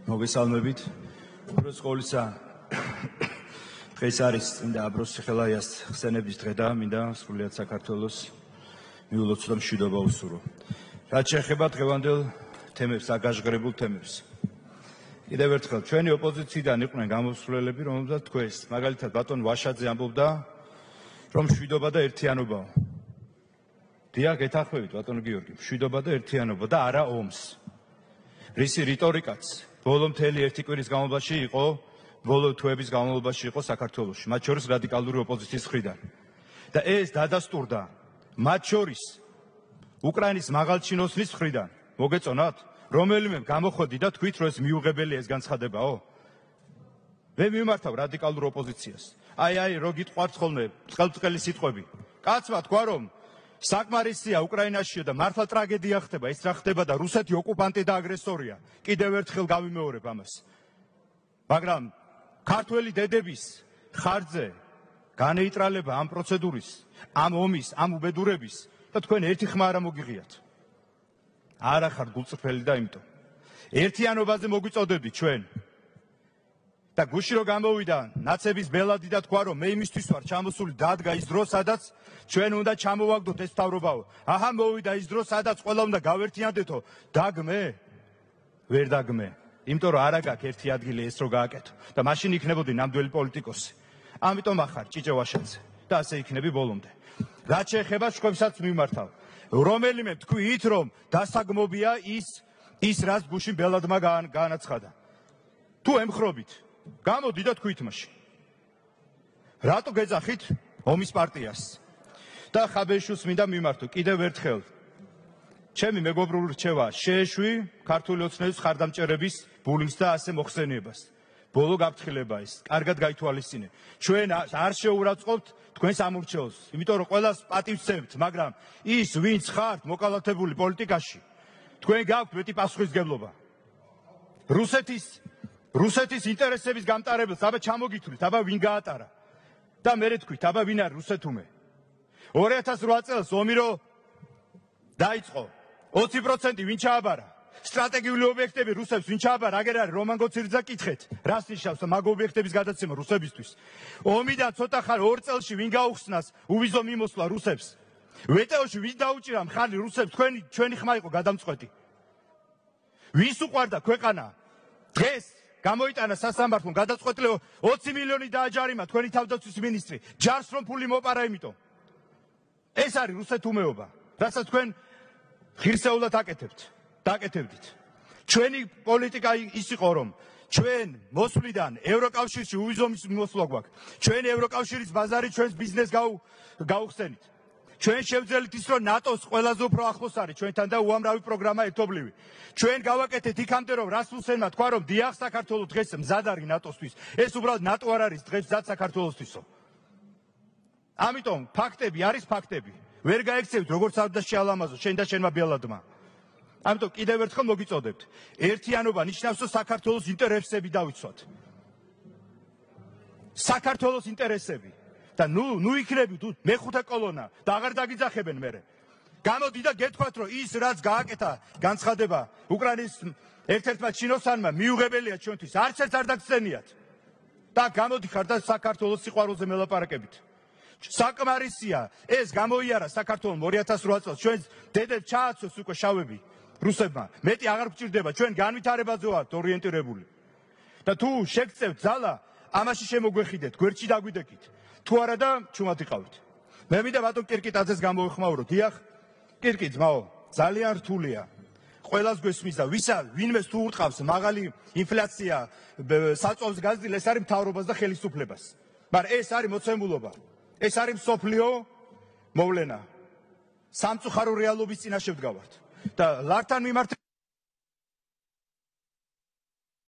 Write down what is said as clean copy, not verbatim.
მოგესალმებით. უბრალოდ ყოვლისა დღეს არის წმინდა აბროს სახელაიას ხსენების დღე და მინდა სრულიად საქართველოს მიულოცო და მშვიდობა უსურვო. რაც შეეხება დღევანდელ თემებს, აგაჟღერებულ თემებს. კიდევ ერთხელ, ჩვენი ოპოზიციიდან იყვნენ გამოსვლელები, რომელთაც თქვენს, მაგალითად ბატონ ვაშაძე ამბობდა, რომ მშვიდობა და ერთიანობაა. დიახ, გეთანხმებით ბატონ გიორგი, მშვიდობა და ერთიანობა და არა ომს. რისი რიტორიკაც ბოლო მთელი ერთი კვირის განმავლობაში იყო, ბოლო თვეების განმავლობაში იყო საქართველოში, მათ შორის რადიკალური ოპოზიციის მხრიდან. და ეს დადასტურდა მათ შორის უკრაინის მაღალჩინოსნის მხრიდან. მოგეწონათ, რომელიმე გამოხოდი და თქვით, რომ ეს მიუღებელია ეს განცხადებაო? მე მიმართავ რადიკალურ ოპოზიციას. აი, რო გიტყვართ ხოლმე წყალწყელი სიტყვები. კაცმა თქვა, რომ საკმარისია უკრაინაშიო და მართლა ტრაგედია ხდება, ეს რა ხდება და რუსეთი ოკუპანტი და აგრესორია. კიდევ ერთხელ გავიმეორებ ამას. მაგრამ ქართველი დედების ხარჯზე განეიტრალება ამ პროცედურის, ამ ომის, ამ უბედურების და თქვენ ერთი ხმა არ მოგიღიათ. არა ხართ გულწრფელი და იმიტომ. ერთიანობაზე მოგვიწოდებდით ჩვენ. და გუში რო გამოვიდა ნაცების ბელადი და თქვა, რომ მე იმისთვის ვარ ჩამოსული დადგა ის დრო, სადაც ჩვენ უნდა ჩამოვაგდოთ ეს მთავრობაო. აჰა, მოვიდა ის დრო, სადაც ყველა უნდა გავერთიანდეთო. დაგმე? ვერ დაგმე. იმიტომ რომ არა გაქვს ერთი ადგილი ეს რო გააკეთო. და მაშინ იქნებოდი ნამდვილი პოლიტიკოსი. ამიტომ ახარ ჭიჭე ვაშაძე და ასე იქნები ბოლომდე. რაც შეეხება შხვებსაც მიმართავ. რომელიმე თქვით, რომ დასაგმობია ის რაც გუშინ ბელადმა გაანაცხადა. თუ ემხრობით გამოდი და თქვით მაშინ. რატო გეძახით ომის პარტიას? და ხაბეშუს მინდა მიმართო კიდევ ერთხელ. ჩემი მეგობრული რჩევა შეეშვი ქართული ოცნების ხარდამჭერების ბულიმს და ასე მოხსენიებას. ბოლო გაფრთხილება ის, კარგად გაითვალისწინე. ჩვენ არ შეურაცხყოფთ თქვენს ამორჩეულს, იმიტომ რომ ყველას პატივცემთ, მაგრამ ის ვინც ხართ მოკალათებული პოლიტიკაში, თქვენ გაქვთ მეტი პასუხისმგებლობა. რუსეთის ინტერესების გამტარებელს აბა ჩამოგითვლით, აბა ვინ გაატარა და მერე თქვით, აბა ვინ არის რუსეთუმე. 2008 წელს ომი რო დაიწყო, 20% ვინ ჩააბარა? სტრატეგიული ობიექტები რუსებს ვინ ჩააბარა? აგერ არის რომან გოცირძა კითხეთ, რას ნიშნავს მაგ ობიექტების გადაცემა რუსებისთვის? ომიდან ცოტა ხარ 2 წელში ვინ გაუხსნას უვიზო მიმოსვლა რუსებს? ვეტეოში ვინ დაუჭირა მხარი რუსებს? ჩვენი ხმა იყო გადამწყვეტი. ვის უყვარდა ქვეყანა? დღეს გამოიტანა სასამართლომ გადაწყვეტილება 20 მილიონი დააჯარიმა თქვენი თავდაცვის მინისტრი. ჯარს რომ ფული მოპარა იმიტომ. ეს არის რუსეთუმეობა, რასაც თქვენ ღირსეულად დაკეთებდით. ჩვენი პოლიტიკა ის იყო, რომ ჩვენ მოსვლიდან ევროკავშირში უვიზო მიმოსვლა გვაქვს. ჩვენ ევროკავშირის ბაზარი ჩვენს ბიზნესს გაუხსენით. ჩვენ შევძელით ის, რომ ნატოს ყველაზე უფრო ახლოს არის ჩვენთან და უამრავი პროგრამა ერთობლივი. ჩვენ გავაკეთეთ იქამდე, რომ რასმუსენმა თქვა, რომ დიახ, საქართველოს დღეს მზად არის ნატოსთვის. ეს უბრალოდ ნატო არ არის დღეს მზად საქართველოსთვისო. ამიტომ ფაქტები არის ფაქტები. ვერ გაექცევით როგორც არ და შეალამაზო შენ და შენმა ბელადმა. ამიტომ კიდევ ერთხელ მოგიწოდებთ. ერთიანობა ნიშნავს, რომ საქართველოს ინტერესები დავიცვათ. საქართველოს ინტერესები. და ნუ იქნები თუ მეხუთე კოლონა და აღარ დაგიძახებენ მერე. გამოდი და გეთქვათ, რომ ის რაც გააკეთა განცხადება უკრაინის ერთ-ერთმა ჩინოსანმა მიუღებელია ჩვენთვის. არც ერთ არ დაგცენიათ. და გამოდი ხარ და საქართველოს სიყვარულზე მელაპარაკებით. საკმარისია ეს გამოიარა საქართველოს 2008 წელს ჩვენს დედებს ჩააცოს უკვე შავები რუსებმა. მეტი აღარ გვჭირდება, ჩვენ განვითარებაზე ვართ ორიენტირებული. და თუ შეგწევთ ძალა, ამაში შემოგვეხიდეთ, გვერდში დაგვიდეკით. თუ არა და ჩუმად იყავით. მე მინდა ბატონ კირკიტაძეს გამოვეხმაურო. დიახ, კირკი ძმაო, ძალიან რთულია. ყველას გვესმის და ვინმეს თუ ურტყავს მაღალი ინფლაცია, საწვავს გაზრდილ, ეს არის მთავრობას და ხელისუფლებას. მაგრამ ეს არის მოცემულობა. ეს არის მსოფლიო მოვლენა. სამწუხარო რეალობის წინაშე ვდგავართ. და ლართან მიმართ